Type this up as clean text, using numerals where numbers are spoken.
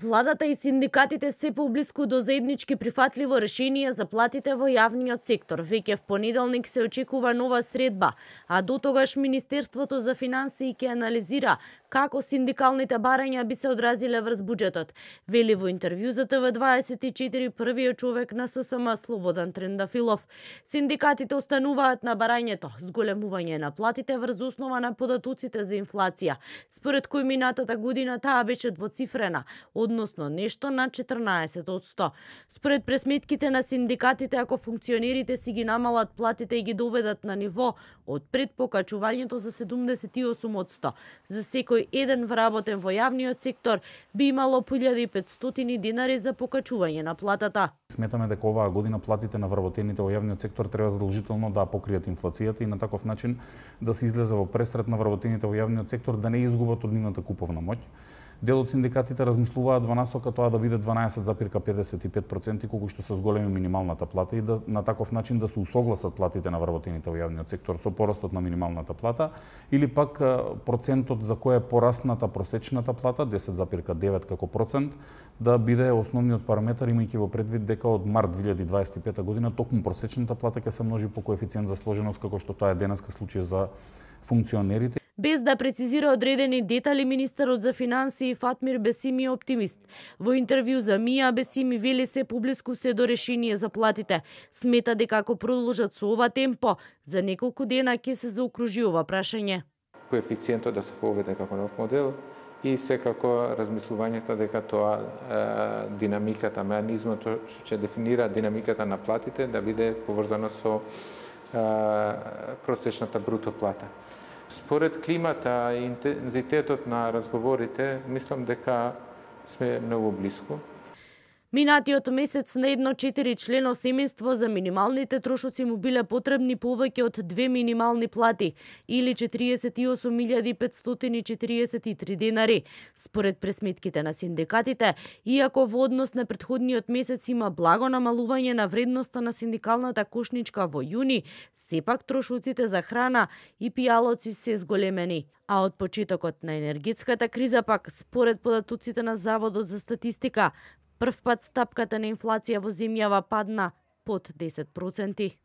Владата и синдикатите се поблиску до заеднички прифатливо решение за платите во јавниот сектор. Веќе в понеделник се очекува нова средба, а до тогаш Министерството за финансии ќе анализира како синдикалните барања би се одразиле врз буџетот. Вели во интервју за ТВ24 првиот човек на ССМ Слободан Трендафилов. Синдикатите остануваат на барањето, зголемување на платите врз основа на податоците за инфлација, според кој минатата година таа беше двоцифрена, односно нешто на 14%. Според пресметките на синдикатите, ако функционерите си ги намалат платите и ги доведат на ниво од пред покачувањето за 78%, за секој еден вработен во јавниот сектор би имало 1500 динари за покачување на платата. Сметаме дека оваа година платите на вработените во јавниот сектор треба задолжително да покријат инфлацијата и на таков начин да се излезе во пресрет на вработените во јавниот сектор да не изгубат од нивната куповна моќ. Дел од синдикатите размислуваат во насока тоа да биде 12,55%, колку што се зголеми минималната плата и да на таков начин да се усогласат платите на вработените во јавниот сектор со порастот на минималната плата, или пак процентот за кој е порасната просечната плата 10,9 како процент да биде основниот параметар, имајќи во предвид дека од март 2025 година токму просечната плата ќе се множи по коефициент за сложеност како што тоа е денеска случај за функционерите. Без да прецизира одредени детали, министерот за финансии Фатмир Бесими е оптимист. Во интервју за МИА Бесими вели се поблиску се до решение за платите. Смета дека ако продолжат со ова темпо, за неколку дена ќе се заокружи ова прашање. Коефициентот да се воведе како нов модел и секако размислувањето дека тоа динамиката, механизмот што ќе дефинира динамиката на платите да биде поврзано со просечната бруто плата. Според климата и интензитетот на разговорите, мислам дека сме многу близко. Минатиот месец на едно 4-члено семејство за минималните трошоци му биле потребни повеќе од 2 минимални плати или 48.543 денари. Според пресметките на синдикатите, иако во однос на претходниот месец има благо намалување на вредноста на синдикалната кошничка во јуни, сепак трошоците за храна и пијалоци се зголемени. А од почетокот на енергетската криза пак, според податоците на Заводот за статистика, прв пат стапката на инфлација во земјава падна под 10%.